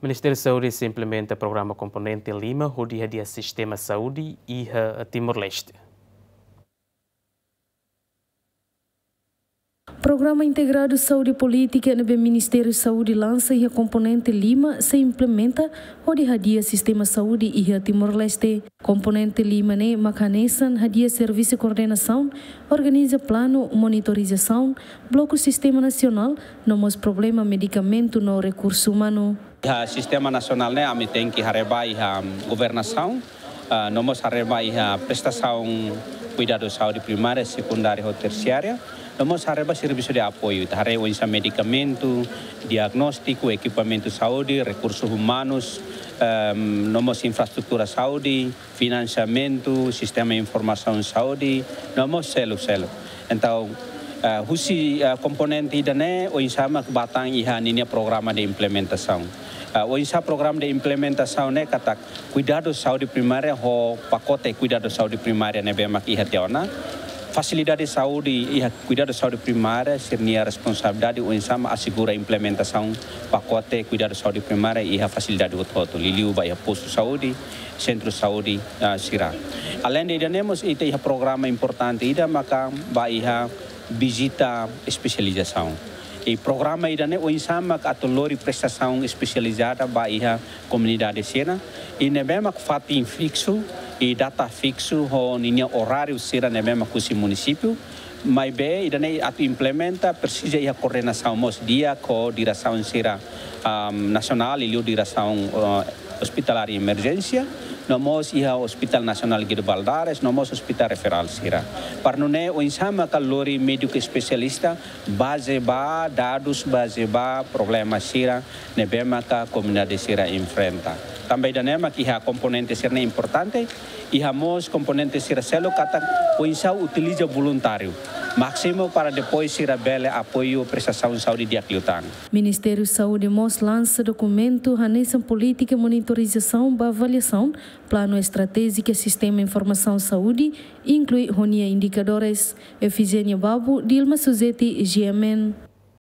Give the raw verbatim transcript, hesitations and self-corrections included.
Ministériu Saúde sei implementa programa komponente lima hodi hadi'a sistema saúde iha Timor-Leste. Programa Integradu Saúde Polítika ne'ebé Ministériu Saúde lansa iha komponente lima sei implementa hodi hadi'a sistema saúde iha Timor-Leste. Komponente lima ne'e mak hanesan hadi'a servisu koordenasaun, organiza planu, monitorizasaun, bloku sistema nasionál, no mós problema medikamentu no rekursu umanu. Iha sistema nasionál ne'e ami tenke haree ba iha governasaun, ah, no mós haree ba iha prestasaun kuidadu saúde primária, sekundária ho tersiária, no mós haree ba servisu de apoiu, ita haree oinsá medikamentu, diagnóstiku, ekipamentu saúde, rekursus umanus, ehm, no mós infraestrutura saúde, finansiamentu, sistema informasaun saúde, no mós seluk-seluk. Entaun, eh, husi, eh, komponente ida-ne'e, oinsá mak ba tan iha ninia programa de implementasaun. Eh, oinsá programa de implementasaun ne'e katak kuidadu saúde primária ho pakote kuidadu saúde primária ne'ebé mak iha tiha ona. Fasilidade saúde iha kuidadu saúde primária, sira-nia responsabilidade oinsá mak asegura implementasaun pakote kuidadu saúde primária iha fasilidade hotu-hotu, liuliu ba iha postu saúde, sentru saúde, ah, sira. Aleinde ida-ne'e mós ita iha programa importante ida maka ba iha vizita espesializasaun. I programa ida-ne'e oinsá mak atu lori prestasaun espesializada ba iha komunidade sira. I ne'ebé mak fatin fiksu, i data fiksu ho ninia oráriu sira ne'ebé mak husi munisípiu. Maibé ida-ne'e atu implementa presiza iha koordenasaun mós di'ak ho diresaun sira, am, nasionál, liuliu diresaun, eh, ospitálár emerjénsia, no mós iha Hospital Nasionál Guido Valadares, no mós ospitál referál sira. Para nune'e oinsá maka lori médiku espesialista bazeia ba dadus, bazeia ba problema sira ne'ebé maka komunidade sira enfrenta. Tanba ida-ne'e mak iha komponente sira-ne'e importante, iha mós komponente sira seluk katak oinsá utiliza voluntáriu másimu para depois sira bele apoiu prestasaun saúde di'ak liután. Ministériu Saúde mós lansa dokumentu hanesan polítika monitorizasaun ba avaliasaun, planu estratéjika sistema informasaun saúde, inklui ho nia indikadores. Efigénia Babu, Dilma Suzeti, G M N.